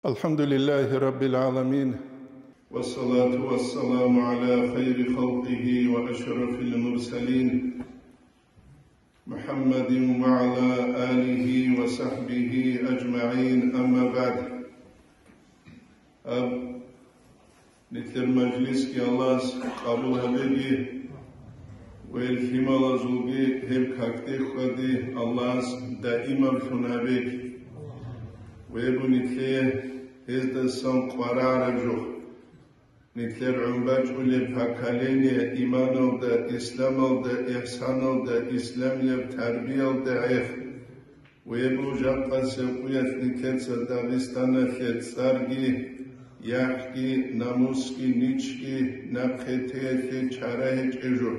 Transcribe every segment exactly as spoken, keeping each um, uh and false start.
الحمد لله رب العالمين. والصلاة والسلام على خير خلقه وأشرف المرسلين، محمد وعلى آله وصحبه أجمعين، أما بعد. Гьаб нилъер мажлисги Аллагьас къабул гьабеги, ва гьел лъималазулги гьеб какде хьвади Аллагьас даимаблъун гьабеги. Ва гьеб нилъее гьездасан къварагӀараб жо. Нилъер гӀун бачӀулеб поколение иманалда, исламалда, ихсаналда, исламияб тарбиялда гӀех. Гьеб жакъасеб къуялъ нилъеца Дагъистаналъе цӀарги, яхӀги, намусги, ничги, нахъе теялъе чара гьечӀеб жо,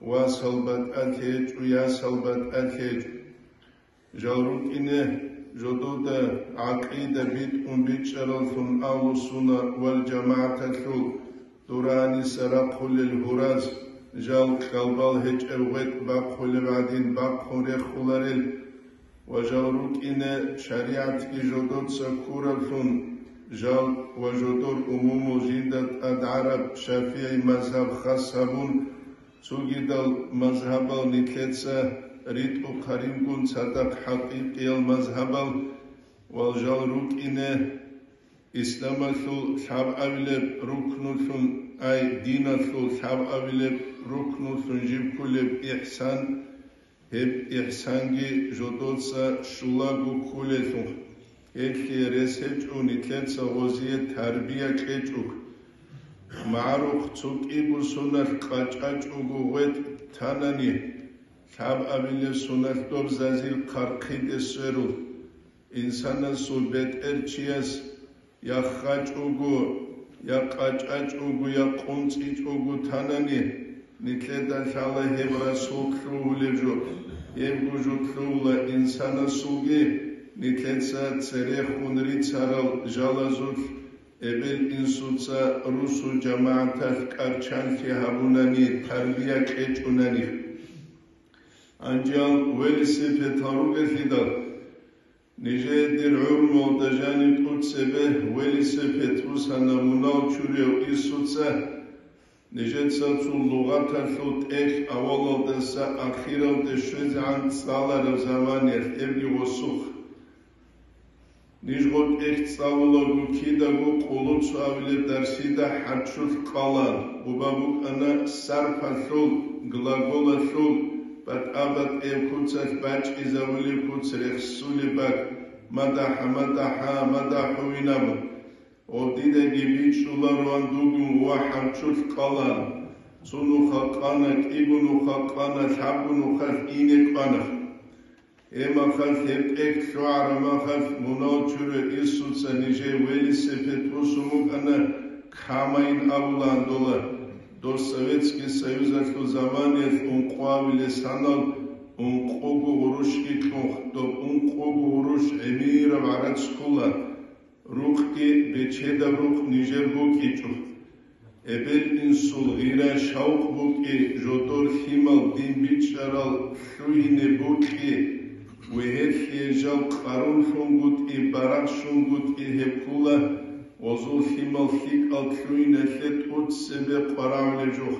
васал батӀалъи гьечӀо, ясал батӀалъи гьечӀо. Жал рукӀине жодода гӀакъида битӀун бичӀчӀараллъун, Агьлу-сунна вал жамагӀаталъул дураниса рахъулел гьураз, жал кьалбал гьечӀеб гъветӀ бахъулеб гӀадин бахъун рехуларел, ва жал рукӀине шаригӀатги жодоца ккураблъун, жал ва жодор умумул жинда тӀад гӀараб ШафигӀи мазгьаб хас гьабун, цогидал мазгьабал нилъеца ритӀухъарингун цадахъ хӀакъикъиял мазгьабал, ва жал рукӀине исламалъул лъабабилеб рукнуллъун, ай, диналъул лъабабилеб рукнуллъун жиб кколеб ихсан, гьеб ихсанги жодоца щулаго кколелъул, гьелъие рес гьечӀо нилъеца гъозие тарбия кьечӀого. МагӀарухъ цо кӀиго соналъ къачӀачӀого гъветӀ танани, лъабабилеб соналъ доб зазил хъархъиде сверул. Инсанасул бетӀер чияс я ххачӀого, я къачӀачӀого, я къунцӀичӀого танани, нилъеда лъала гьеб расул лъугьулеб жо, гьебго жо лъугьула инсанасулги нилъеца церехун рицарал жалазулъ, эбел-инсуца русул жамагӀаталъ кӀарчанлъи гьабунани, тарбия кьечӀунани. Гьанже велосипедал ругелъидал, нижее дир гӀумруялда жаниб тӀоцебе велосипед бусана мунал чурияв инсуца, нижеца цо лугъаталъул тӀехь авалалдаса ахиралде щвезегӀан цӀалараб заманиялъ, гьебги гъосухъ. Ниж гъо тӀехь цӀалулаго кидаго къулуцу абилеб дарсида хӀарччулъ къалан, буба букӀана сарфалъул, глаголалъул, батӀа-батӀияб куцалъ бачӀизабулеб куц рехсулеб бакӀ, мадахӀа, мадахӀа, мадахӀу винабун. Гъоб дидаги бичӀчӀулароан дугун ва хӀарччулъ къалан. Цо нуха къана, кӀиго нуха къана, лъабго нухалъ ине кӀвана. Гьеб мехалъ, гьеб тӀехь лъугӀараб мехалъ, мунал чурав инсуца нижее велосипед бусун букӀана, камайин абулаан дола. Дос Советский Союзалъул заманиялъ ункъоабилеб санал ункъого гъурущги кьун, доб ункъого гъурущ гӀемераб гӀарац ккола. Рукъги бечедаб рукъ нижер букӀичӀо. Эбел-инсул гъира-шавкъ букӀи, жодор лъимал дин бичӀчӀарал лъугьине букӀи, вегьерлъие жал къарунлъунгутӀи, барагъщунгутӀи гьеб ккула, гъозул лъимал лъикӀал лъугьиналъе тӀоцебе къварагӀулеб жо.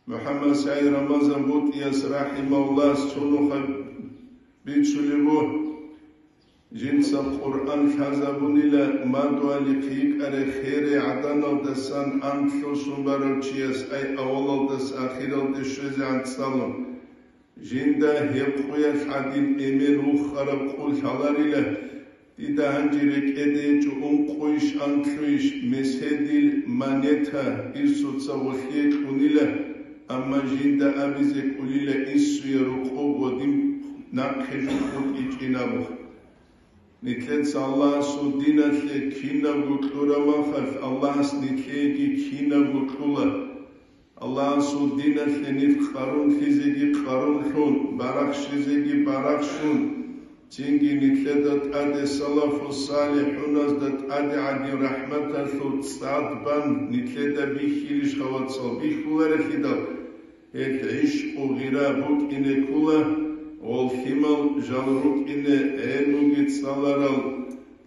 МухӀаммад СагӀид Рамазан БутӀияс рахӀимагьуллагьас цо нуха бицунеб буго, жинца Къуръан лъазабунила мадугьалихъ йикӀарай херай гӀаданалдасан анлъго сон барав чияс, ай авалалдаса ахиралде щвезегӀан цӀалун. Жинда гьеб къуялъ гӀадин эмен вухараб къул лъаларила, дида гьанже рекӀеде гьечӀо ункъойищ анлъойищ, меседил монета инсуца гъолъие кьунила, амма жинда абизе кӀолила инсуе рокъоб ва дин нахъе жухъун ичӀин абун. Нилъеца Аллагьасул диналъе кинабго кьураб мехалъ, Аллагьас нилъееги кинабго кьула. Аллагьасул диналъе нилъ къарунлъизеги къарунлъун, барахщизеги барахщун, цинги нилъеда тӀаде салафу салихӀуназда тӀаде гӀадин рахӀматалъул цӀад бан нилъеда бихьилищха, вацал, бихьуларелъидал, гьел гӀишкъу гъира букӀине ккула, гъол лъимал жал рукӀине гӀелмуги цӀаларал,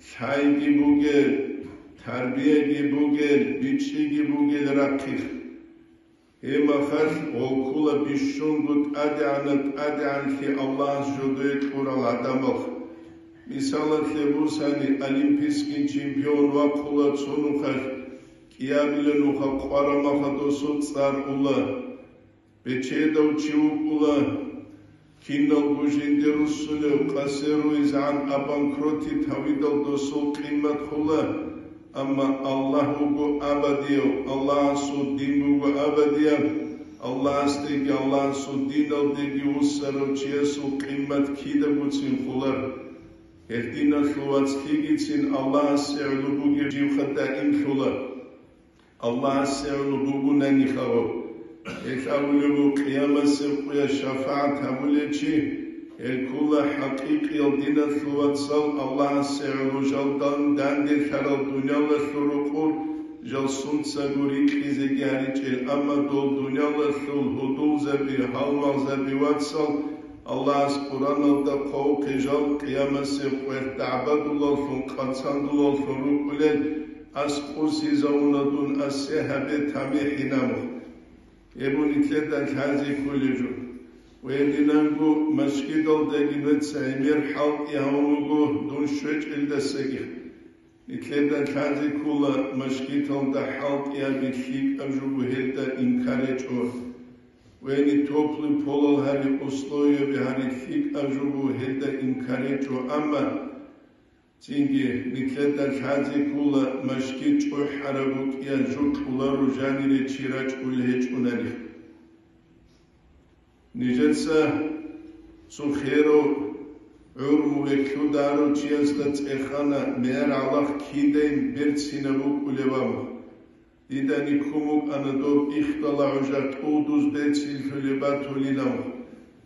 лъайги бугел, тарбияги бугел, бичӀчӀиги бугел рахъих. Гьеб мехалъ гъолкула бищунго тӀадегӀанаб тӀадегӀанлъи Аллагьас жодое кьурал гӀадамал. Мисалалъе бусани, олимпийский чемпион вахъула цо нухалъ, кӀиабилеб нуха къвараб мехалъ досул цӀар ула. Бечедав чи вукӀула, киналго жинде руссунев, къасе руизегӀан обанкротить гьавидал досул къиммат хула, амма Аллагь вуго абадияв, Аллагьасул дин буго абадияб, Аллагьасдеги Аллагьасул диналдеги вуссарав чиясул къиммат кидагоцин хулар. Гьел диналъул вацлъигицин Аллагьасе гӀоло бугеб живха даимлъула. Аллагьасе гӀоло бугунани хаваб. Гьелъ абулеб буго, къиямасеб къоялъ шафагӀат гьабулев чи, гьел ккола хӀакъикъиял диналъул вацал Аллагьасе гӀоло жал дан-, данделъарал дуниялалъул рукъур жал сунцаго рикьизеги гьаричӀел, амма дол дуниялалъул гьудулзаби, гьалмагъзаби вацал Аллагьас Къураналда хъвавухъе жал къиямасеб къоялъ дагӀбадулаллъун, къацандулаллъун рукӀулел, аскӀусизавуна дун, асе гьабе тамихӀинаб. Гьеб нилъеда лъазе кколеб жо. Ва гьединанго машгидалдаги нуца гӀемер хӀалтӀи гьавун вуго дун щвечӀелдасаги. Нилъеда лъазе ккола машгиталда хӀалтӀи гьаби лъикӀаб жо буго гьелда инкар гьечӀо. Ва гьениб теплый полал гьари условияби гьари лъикӀаб жо буго гьелда инкар гьечӀо, амма цинги нилъеда лъазе ккола машгит чӀухӀараб букӀиялъул кьоларо жанире чи рачӀунел гьечӀунани. Нижеца цо херав гӀурму вехьударав чиясда цӀехана, мегӀер гӀалахъ кидайин берцинаб букӀулеб абун. Дида никкун букӀана доб ихдала гӀужа тӀудуз берцинлъулеб батулин абун.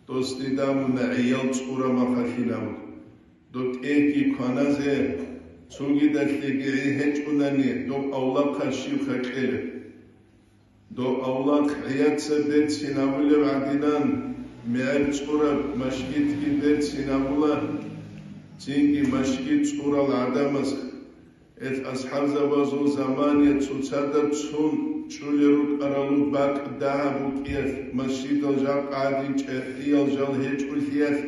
Дос дида абуна гӀиял цӀура махалъин абун. Доб тӀегьги кваназе цогидалъеги гӀи гьечӀунани, доб авлахъа щибха кьела. Дов авлахъ гӀияца берцин абулеб гӀадинан, мегӀер цӀураб машгитги берцин абула, цинги машгит цӀурал гӀадамаз. Гьел асхӀабзабазул замания цоцазда цун чӀулел рукӀаралул бакӀ дагьаб букӀиялъ, машгитал жакъа гӀадин чӀехӀиял жал гьечӀолъиялъ,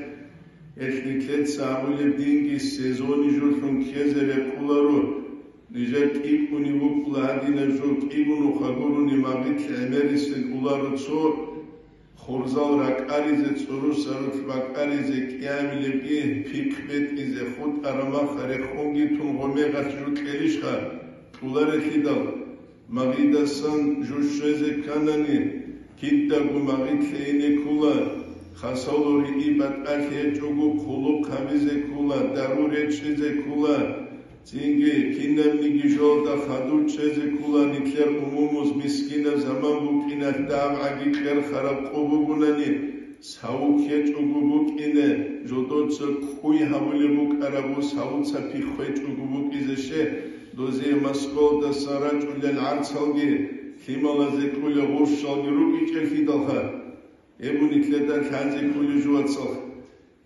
гьел нилъеца абулеб динги сезони жолъун ккезе рекъоларо. Нижер кӀикӀкӀунеб букӀула гьадинаб жо, кӀигун нуха гурони магъилъ гӀемерисел уларо цо, хурзал ракӀаризе, цӀурусарулъ бакӀаризе, кӀиабилебги пихъ бетӀизе, хутӀараб махха рехунги тун гъомегъалъ жо кьелищха, кьоларелъидал, магъидасан жо щвезе кканани, кидаго магъилъе ине ккола, хасало риъи батӀалъи гьечӀого хъулухъ гьабизе ккола, дару речӀчӀизе ккола. Цинги кинабниги жолда хадур чӀезе ккола нилъер умумуз, мискинаб заман букӀиналъ дагӀабгӀаги кьерхараб къо бугунани, савук гьечӀого букӀине, жодоца кӀуй гьабулеб букӀараб, савуца пихъ гьечӀого букӀизе ще, дозие Москвалдасан рачӀулел гӀарцалги, лъималазе кьулел гъурщалги рукӀичӀелъидалха. Гьеб нилъеда лъазе кколеб жо, вацал.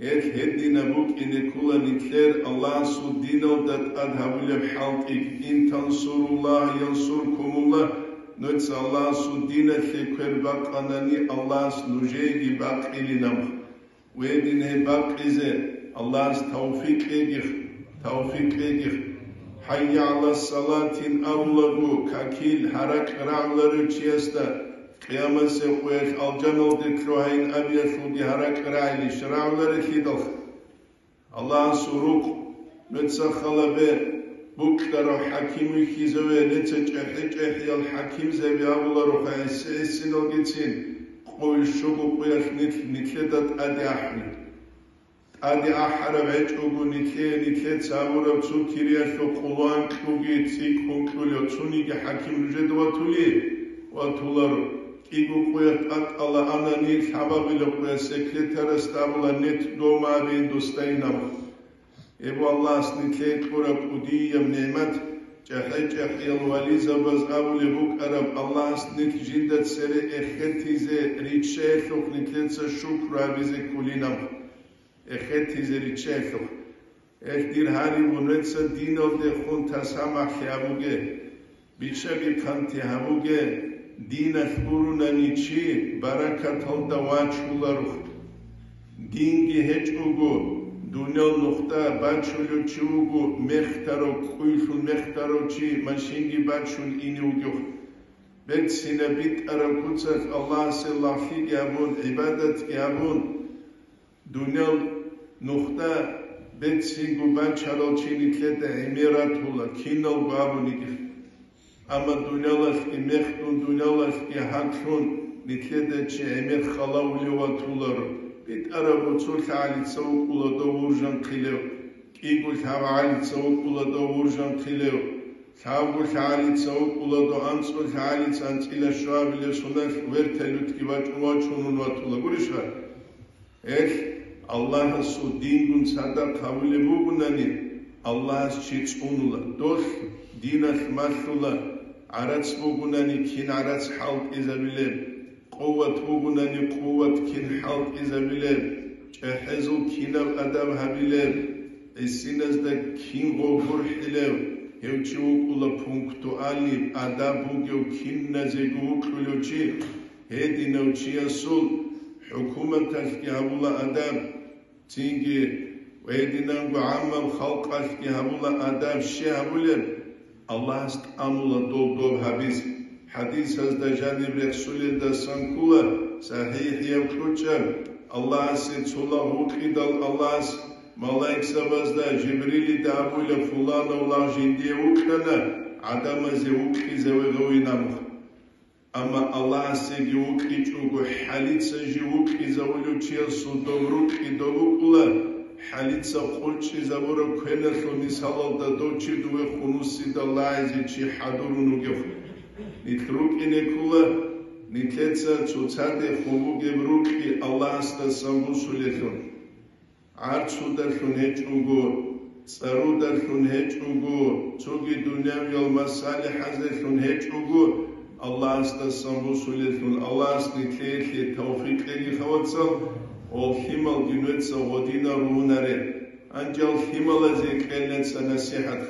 Гьел гьединаб букӀине ккола нилъер Аллагьасул диналда тӀад гьабулеб хӀалтӀи: «Ин тансуруллагь янсуркумуллагь», нуца Аллагьасул диналъе квер бакъанани, Аллагьас нужееги бакъилин абун. Гьедин гьеб бакъизе Аллагьас тавфикъ кьегих, тавфикъ кьегих. «ХӀайя гӀалас салатин» абулаго, какил гьаракь рагӀуларев чиясда, къиямасеб къоялъ алжаналде лъугьайин абиялъулги гьаракь рагӀилищ рагӀуларелъидал? Аллагьасул рукъ, нуца халабе, букьарав хӀаким вихьизаве, нуца чӀехӀи-чӀехӀиял хӀакимзаби абулароха гӀиси-гӀисиналгицин, къойил щуго къоялъ нилъ нилъеда тӀаде ахӀулел. ТӀаде ахӀараб гьечӀого нилъее, нилъеца абураб цо кириялъул къоло анкьуги цӀикӀкӀун кьулев цониги хӀаким нужеда ватулей? Ватуларо. КӀиго къоялъ тӀатӀала анани, лъабабилеб къоялъ секретарасда абула: «Нет дома», абейин досдайин абун. Гьеб Аллагьас нилъее кьураб кӀудияб нигӀмат, чӀахӀи-чӀахӀиял вализабаз абулеб букӀараб, Аллагьас нилъ жинда цере эхетизе риччаялъухъ нилъеца шукру гьабизе кколин абун. Эхетизе риччаялъухъ. Эх, дир гьариб, нужеца диналдехун тасамахӀлъи гьабуге, бичӀчӀаби-хъанти гьабуге, диналъ гурунани чи баракаталда вачуларо. Динги гьечӀого, дуниял нухда бачулев чи вуго, мехтарав, кӀуйлъун мехтарав чи машинги бачун ине вугев. Берцинаб битӀараб куцалъ Аллагьасе лагълъиги гьабун, гӀибадатги гьабун, дуниял нухда берцинго бачарал чи нилъеда гӀемер ратула, киналго абуниги. Амма дуниялалъги мехдун, дуниялалъги гьаклъун, нилъеда чи гӀемер халавулев ватуларо. БитӀараб буцур лъагӀалица вукӀула дов вуржанхъилев, кӀиго лъагӀалица вукӀула дов вуржанхъилев, лъабго лъагӀалица вукӀула дов анцӀго лъагӀалица анцӀила щуабилев соналъ вертолётги вачӀун вачунун ватула. Гурищха? Гьелъ Аллагьасул дингун цадахъ гьавулеб бугунани, Аллагьас чи цӀунула. Долъ диналъ малъула, гӀарац бугунани, кин гӀарац хӀалтӀизабилеб, къуват бугунани, къуват кин хӀалтӀизабилеб, чӀехӀезул кинаб адаб гьабилеб, гӀисиназда кин гъов гурхӀилев, гьев чи вукӀула пунктуальный, адаб бугев, киназего вукьулев чи. Гьединав чиясул хӀукуматалъги гьабула адаб, цинги гьединанго гӀаммаб халкъалъги гьабула адаб. Щай гьабулеб? Аллагьас тӀамула дол доб гьабизе. ХӀадисазда жаниб рехсулелдасан ккола, сахӀихӀияб кьучӀаб, Аллагьасе цо лагъ вукьидал Аллагьас малаикзабазда, Жибрилида абула, фуланав лагъ жиндие вукьана, гӀадамазе вукьизаве гъовинамуха. Амма Аллагьасеги вукьичӀого, хӀалица жив вукьизавулев чиясул доб рукьидал вукӀула, хӀалица къулчӀизабураб квеналъул мисалалда дов чи дуве хунусидал лагьизе чи хӀадурун вугев. Нилъ рукӀине ккола, нилъеца цоцаде хун бугеб рукьи Аллагьасдасан бусулелъул. ГӀарцудалъун гьечӀого, цӀарудалъун гьечӀого, цоги дунявиял масалихӀазелъун гьечӀого, Аллагьасдасан бусулелъул. Аллагьас нилъее тавфикъ кьеги, хавацал, гъол лъималги нужеца гъодинал ругьунаре. Гьанжал лъималазе кьел нужеца насихӀат.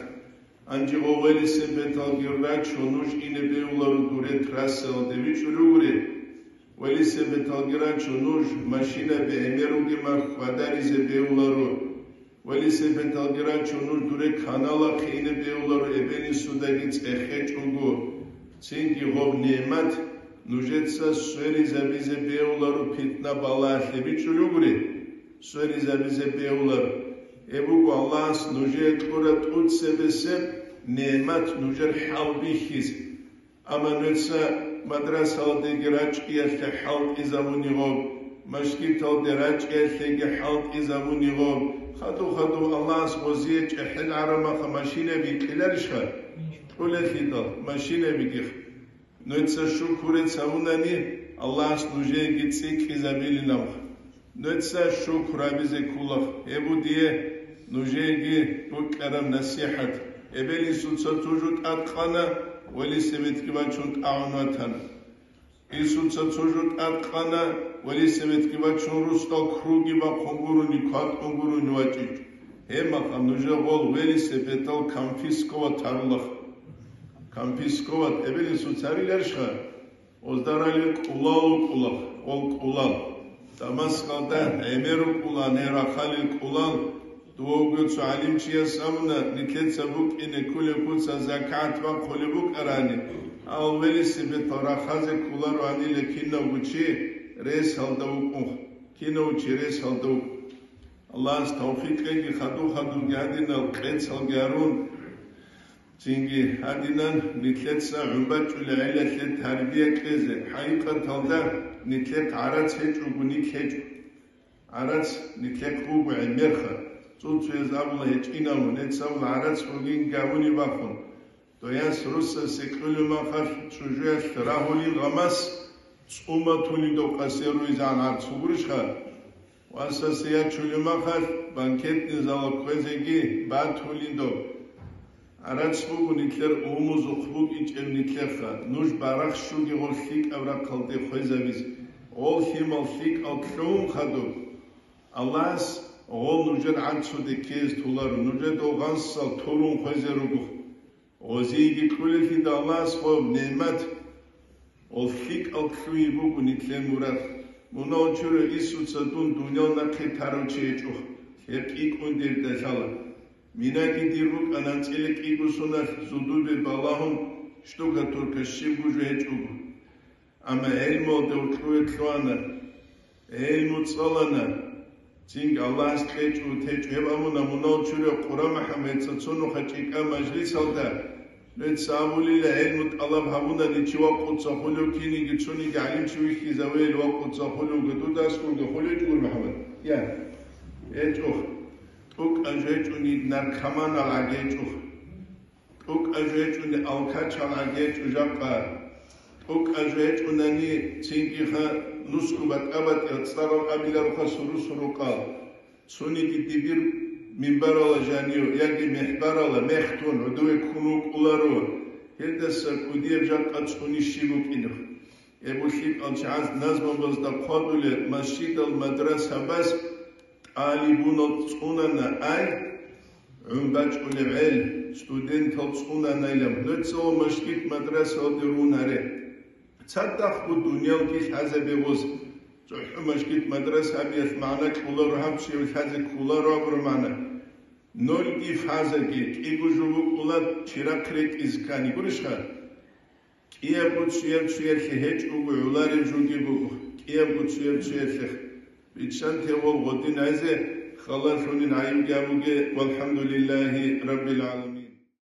Гьанже гъо велосипедалги рачун нуж ине бегьуларо дуре трассаялде, бичӀчӀулев гури. Велосипедалги рачун нуж машинаби гӀемер ругеб мехалъ хьвадаризе бегьуларо. Велосипедалги рачун нуж дуре каналахъе ине бегьуларо, эбел-инсудаги цӀехечӀого. Цинги гъоб нигӀмат нужеца сверизабизе бегьуларо питна-балагьалъе, бичӀчӀулев гури. Сверизабизе бегьуларо. Гьеб буго Аллагьас нужее кьураб тӀоцебесеб нигӀмат нужер хӀал бихьизе. Амма нужеца мадрасаялдеги рачӀиялъе хӀалтӀизабуни гъоб, мажгиталде рачӀиялъеги хӀалтӀизабуни гъоб, хадув-хадув Аллагьас гъозие чӀехӀел гӀарамаха машинаби кьеларищха? Кьолелъидал машинабигих. Нужеца шукру гьабунани, Аллагьас нужееги цӀикӀкӀизабилинаб. Нужеца шукру гьабизе ккола, гьеб буго дие нужееги букӀараб насихӀат. Эбел-инсуца цо жо тӀадкъана, велосипедги бачун тӀагӀун ватана. Инсуца цо жо тӀадкъана, велосипедги бачун росдал круги бахъун гурони, кватӀун гурони вачӀичӀо. Гьеб мехалъ нужер гъол велосипедал конфисковать гьарулаха. Конфисковать эбел-инсуца гьариларищха? Озда ралел кӀулал вукӀула, гъол кӀулал. Дамаскалда гӀемер вукӀула, гьел рахъалил кӀулал. Дов вуго цо гӀалимчияс абуна, нилъеца букӀине кколеб куца закат бахъулеб букӀарани, гьал велосипедал рахъазе кколаро гьаниле кинавго чи ресалда вукӀун, кинав чи ресалда вукӀун. Аллагьас тавфикъ кьеги, хадув-хадувги гьадинал къецалги гьарун. Цинги гьадинан нилъеца гӀун бачӀунеб гӀелалъе тарбия кьезе, хӀакъикъаталда нилъехъ гӀарац гьечӀого нилъ гьечӀо. ГӀарац нилъехъ буго гӀемерха. Цо-цояз абула гьечӀинабун, нилъеца абула гӀарац бугин гавуни бахун. Дояс руссасе кьолеб мехалъ чӀужуялъ рагьулин гъамас, цӀума тулин дов къасе руйзан гӀарц гурищха? Васасе ячулеб мехалъ банкетный залалъ кквезеги батулин доб. ГӀарац буго нилъер умузухъ букӀинчӀеб нилъеха, нуж барахщуге гъол лъикӀаб рахъалде хвезабизе, гъол лъимал лъикӀал лъун хадуб. Аллагьас Гъол нужер гӀанцуде ккезе толаро, нужеда гъансал турун хвезе руго. Гъозиеги кьулелъида Аллагьас гъоб нигӀмат, гъол лъикӀал лъугьи буго нилъер мурад. Мунагьал чурай Исуца дун дуниял нахъе тарав чи гьечӀо, гьеб кӀикӀкӀун дирда лъала. Минаги дир букӀана анцӀила кӀиго соналъ зудубе балагьун, штукатурка щибго жо гьечӀого. Амма гӀелмуялда гьоркьове лъугьана, гӀелму цӀалана, цинги Аллагьас кьечӀо, течӀо. Гьеб абуна мунагьал чурай Къура МухӀаммадица цо нухалъ чӀикӀаб мажлисалда, нуца абулила, гӀелму тӀалаб гьабунани чи вакъуца хулев, киниги цониги гӀалимчи вихьизавейил вакъуца хулевги, дудасгунги хулечӀого, МухӀаммад? Я, гьечӀо. ТӀокӀаб жо гьечӀони наркоманал гӀаги гьечӀо. ТӀокӀаб жо гьечӀони алкачал гӀаги гьечӀо жакъа. ТӀокӀаб жо гьечӀонани цинги ха нусго батӀа-батӀиял цӀарал абилароха суру-сурукъал. Цониги дибир минбарала жанив яги мехбарала мехтун гӀодове ккун вукӀуларо, гьелдаса кӀудияб жакъа цӀуни щиб букӀинеб. Эбу лъикӀал чагӀаз назмабазда хъвадулел масжидал мадрасабаз тӀалибунал цӀунана ай, гӀун бачӀунеб гӀел, студентал цӀунанайилан, нуцала мажгит-мадрасалде рунаре. Цадахъго дунялги лъазабе гъоз, цохӀо мажгит-мадраса абиялъ магӀна кьоларо гьаб чияв лъазе кколаро абураб магӀна. Нольги фазаги, кӀиго жо букӀула чирахъ ретӀизе ккани, гурищха? КӀиябго цоял-цоялъе гьечӀого гӀолареб жоги буго, кӀиябго цоял-цоялъе. Биччанте гъол гъодин гӀезе, халалъунин гӀайибги абуге, валхӀамдулиллагьи раббил гӀаламин.